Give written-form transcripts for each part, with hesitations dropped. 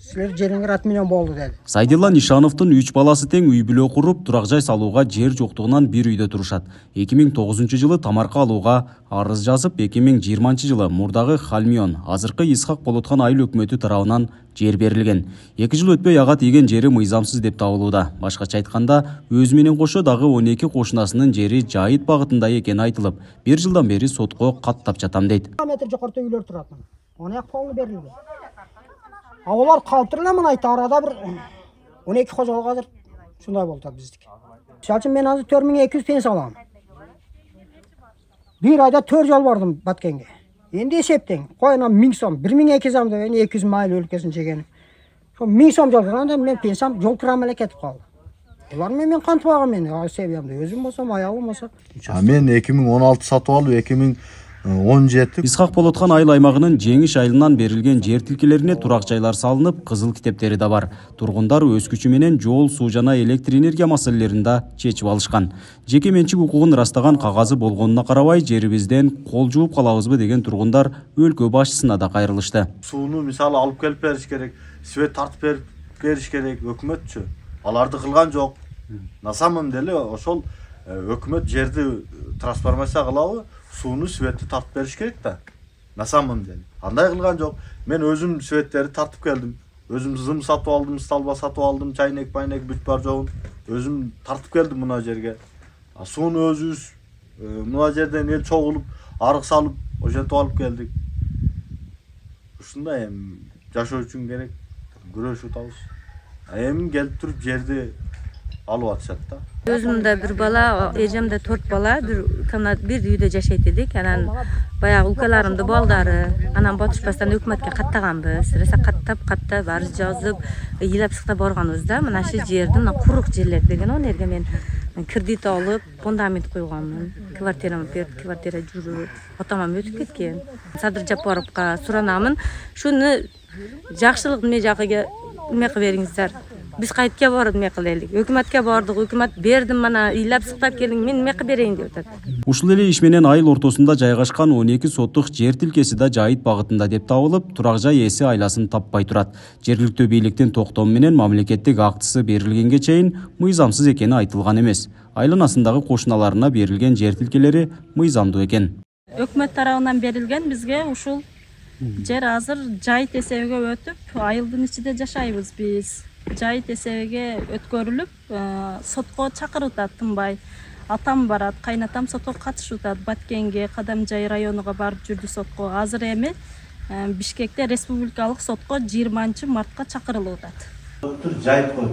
Силер жериңер 60 миллион болду деди. Сайдилла Нишановдун 3 баласы тең үй бүлө куруп, турак жай салууга жер жоктугунан бир үйдө турушат. 2009 жылы тамарка алууга арыз жазып, 2020 жылы мурдагы Халмион, азыркы Исхак Болоткан айыл өкмөтү тарабынан жер берилген. 2 жыл өтпөй ага тийген жери мыйзамсыз деп табылууда. Башкача айтканда, өзү менен кошо дагы 12 кошунасынын жери жайыт багытында экени айтылып, 1 жылдан бери сотко каттап жатам дейт. Метр жогоруда үйлөр турат. Оны полный берилген. Алар калтырла мына айта арада бир 12 кожолук азыр шундай болду биздики. Мисалы мен азыр 4200 пенсия алам. Bir ayda 4 жол бардым Баткенге. Энди эсептең. Койна 1000 сом, 1200 сом деген 200 майыл өлкөсүн жеген. Ошо 1000 сом жол кырганда мен пенсиям жол кырам эле кетип калды. Булар мен кантип алгам мен, себебимди өзүм болсом, аялым болсо. Мен 2016 сатып алып 2017 Исхак Болоткан айыл аймагынын Жеңиш айылынан берилген жер тилкелерине турак жайлар салынып, кызыл китептери да бар. Тургундар өз күчү менен жол, суу жана электр энергия маселелерин да чечип алышкан. Жеке менчик укугун ырастаган кагазы болгонуна карабай, жерибизден кол жууп калабызбы деген тургундар өлкө башчысына да кайрылышты. Сууну мисалы алып келип бериш керек, свет тартып бериш керек, өкмөтчү. Аларды кылган жок. На самом деле ошол өкмөт жерди трансформация кылабы, сууну светти тартып бериш керек да. На самом деле андай кылган жок. Мен өзүм светтерди тартып келдим. Өзүм зым сатып алдым, столба сатып алдым, чайнек, пайнек бүт бар жогун. Өзүм тартып келдим мына жерге. Сууну өзүбүз мына жерден эл чогулуп, арык салып, ошентип алып келдик. Ушундай эми жашоо үчүн керек, күрөшүп атабыз. Эми келип туруп жерди алып атышат да. Өзүмдө бир бала, эжемде 4 бала, бир үйдө жашайт эдик. Анан баягы укаларымдын балдары, анан батышпастан өкмөткө каттаганбыз. Раса каттап арыз жазып, ыйлап сыктап барганбыз да. Мына шы жердин курук жерлер деген онерге мен кредит алып, фундамент койганмын. Квартирамды берип, квартира жүрүп, атамам өтүп кеткен. Садыр Жапаровго суранамын. Шуну жакшылык эме жагыга эме кылып бериңиздер. Биз кайтка барып эме кылайлык. Өкмөткө бардык, өкмөт бердим, мана ыйлап сыктап келдиң, мен эме кылып берейин деп атат. Ушул эле иш менен айыл ортосунда жайгашкан 12 соттук жер тилкеси да жайыт багытында деп табылып, турак жай ээси айласын таппай турат. Жергиликтүү бийликтин токтому менен мамлекеттик актысы берилгенге чейин мыйзамсыз экени айтылган эмес. Айланасындагы кошуналарына берилген жер тилкелери мыйзамдуу экен. Өкмөт тарабынан берилген бизге ушул жер азыр жайыт эсебиге өтүп, айылдын ичинде жашайбыз биз. Жайыт эсебиге өткөрүлүп, сотко чакырып атат тынбай. Атам барат, кайнатам сотко катышып атат. Баткенге, Кадамжай районуга барып жүрдү сотко. Азыр эми Бишкекте республикалык сотко 20 мартка чакырылып атат. Жайыт коюп.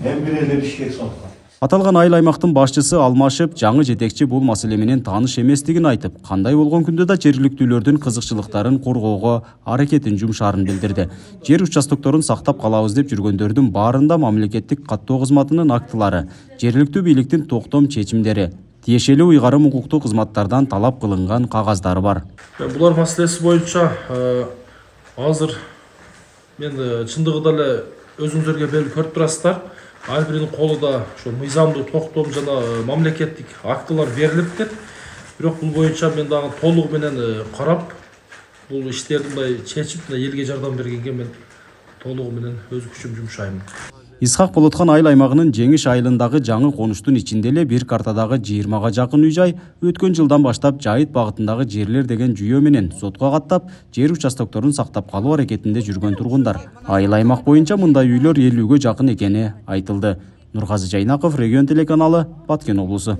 Эми бир эле Бишкек сотко. Аталган айыл аймактын башчысы алмашып, жаңы жетекчи бул маселе менен тааныш эместигин айтып, кандай болгон күндө да жергиликтүүлөрдүн кызыкчылыктарын коргоого аракетин жумшаарын билдирди. Жер участокторун сактап калабыз деп жүргөндөрдүн баарында мамлекеттик каттоо кызматынын актылары, жергиликтүү бийликтин токтом чечимдери, тиешелүү уйгарым укуктук кызматтардан талап кылынган кагаздары бар. Булар маселеси боюнча азыр мен чындыгында эле өзүңүзөргө берип көрүп турасыздар. Ар биринин колунда ошо мыйзамдуу токтом жана мамлекеттик актылар берилиптир. Бирок бул боюнча мен дагы толугу менен карап, бул иштерди мындай чечип, элге жардам бергенге мен толугу менен өз күчүм жумшайм. Исхак Болоткан айыл аймагынын Жеңиш айылындагы жаңы конуштун ичинде эле бир картадагы 20га жакын үй-жай өткөн жылдан баштап жайыт багытындагы жерлер деген жүйө менен сотко каттап, жер участокторун сактап калуу аракетинде жүргөн тургундар. Айыл аймак боюнча мындай үйлөр 50ге жакын экени айтылды. Нургазы Жайнаков, Регион телеканалы, Баткен облусу.